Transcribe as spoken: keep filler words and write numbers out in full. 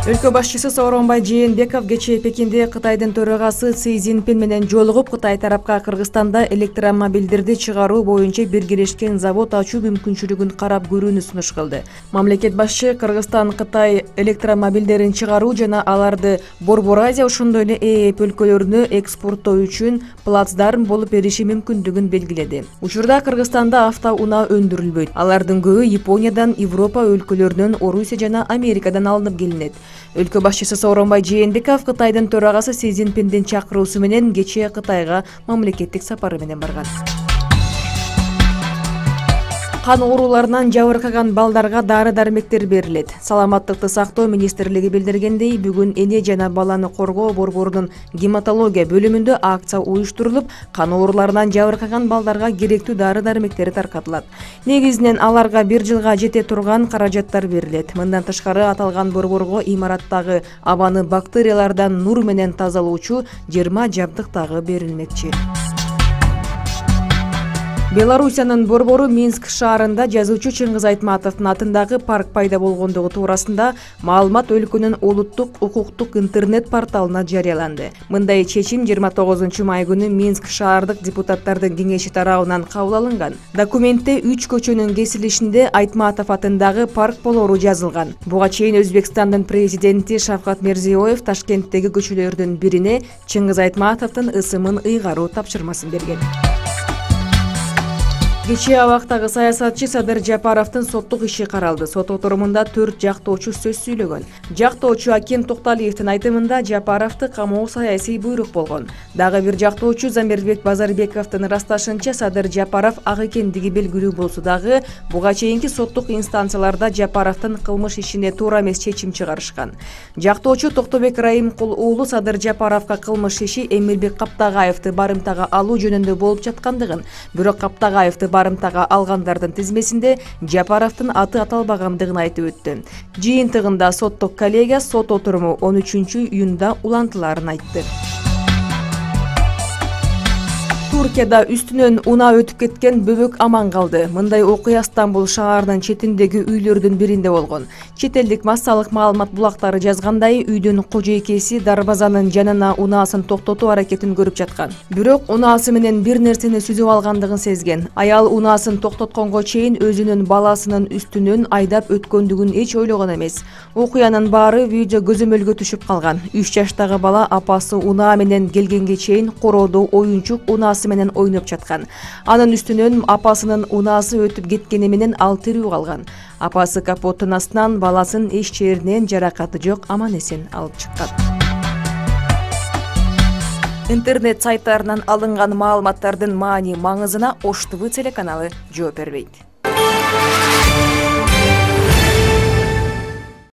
Өлкө башчысы Сооронбай Жээнбеков кечээ Пекинде Кытайдын төрагасы Си Цзиньпин менен жолугуп, Кытай тарапка Кыргызстанда электромобилдерди чыгаруу боюнча биргелешкен завод ачуу мүмкүнчүлүгүн карап көрүүнү сунуш кылды. Мамлекет башчы Кыргызстан Кытай электромобилдерин чыгаруу жана аларды Борбор Азия ошондой эле ЭЭП өлкөлөрүнө экспорттоо үчүн плацдарм болуп бериши мүмкүндүгүн белгиледи. Учурда Кыргызстанда автоунаа өндүрүлбөйт. Алардын көбү Япониядан, Европа өлкөлөрүнөн, Орусия жана Америкадан алынып келинет. Өлкө башчысы Сооронбай Жээнбеков Кытайдын төрагасы Си Цзиньпиндин чакыруусу менен кечээ Кытайга мамлекеттик сапары менен барган. Кан ооруларынан жабыркаган балдарга дары-дармектер берилет. Саламаттыкты сактоо министрлиги билдиргендей, бүгүн эне жана баланы коргоо борборунун гематология бөлүмүндө акция уюштурулуп, кан ооруларынан жабыркаган балдарга керектүү дары-дармектери таркатылат. Негизинен аларга бир жылга жете турган каражаттар берилет. Мындан тышкары аталган борборго имараттагы абаны бактериялардан нур менен тазалоочу жыйырма жабдык дагы берилмекчи. Белоруссиянын борбору Минск шаарында жазуучу Чыңгыз Айтматовдун атындагы парк пайда болгондугу туурасында маалымат өлкөнүн улуттук укуктук интернет порталына жарыяланды. Мындай чечим жыйырма тогузунчу май күнү Минск шаардык депутаттардын кеңеши тарабынан кабыл алынган. Документте үч көчөнүн кесилишинде Айтматов атындагы парк болору жазылган. Буга чейин Өзбекстандын президенти Шавкат Мирзиёев Ташкенттеги көчөлөрдүн бирине Чыңгыз Айтматовдун ысымын ыйгаруу тапшырмасын берген. Кечээ абактагы саясатчы Садыр Жапаровдун соттук иши каралды. Сот отурумунда төрт жактоочу сөз сүйлөгөн. Жактоочу Акен Токталиевдин айтымында Жапаровду камоо саясий буйрук болгон. Дагы бир жактоочу Замирбек Базарбековдун ырасташынча Садыр Жапаров ак экендиги белгилүү болсо дагы, буга чейинки соттук инстанцияларда Жапаровдун кылмыш ишине туура эмес чечим чыгарышкан. Жактоочу Токтобек Раимкул уулу Садыр Жапаровго кылмыш иши Эмилбек Каптагаевди барымтага алуу жөнүндө болуп жаткандыгын, бирок Каптагаевди барымтага алгандардын тизмесинде Жапаровдун аты аталбагандыгын айтып өттү. Жыйынтыгында соттук коллегия сот отуруму он үчүнчү июнда улантыларын айтты. Туркияда үстүнөн унаа өтүп кеткен бөбөк аман калды. Мындай окуя Стамбул шаарынын четиндеги үйлөрдүн биринде болгон. Чет элдик массалык маалымат булактары жазгандай, үйдүн кожойкеси дарбазанын жанына унаасын токтотуу аракетин көрүп жаткан. Бирок унаасы менен бир нерсени сүзүп алгандыгын сезген. Аял унаасын токтотконго чейин өзүнүн баласынын үстүнөн айдап өткөндүгүн эч ойлогон эмес. Окуянын баары видео көзөмөлгө түшүп калган. үч жаштагы бала апасы унаа менен келгенге чейин короодо оюнчук унаасы менен ойноп жаткан. Анын үстүнөн апасынын унаасы өтүп кеткени менен ал тирүү калган. Апасы капоттун астынан баласын эч жеринен жаракаты жок аман эсен алып чыккан. Интернет сайттарынан алынган маалыматтардын маани маңызына Ош ТВ телеканалы жооп бербейт.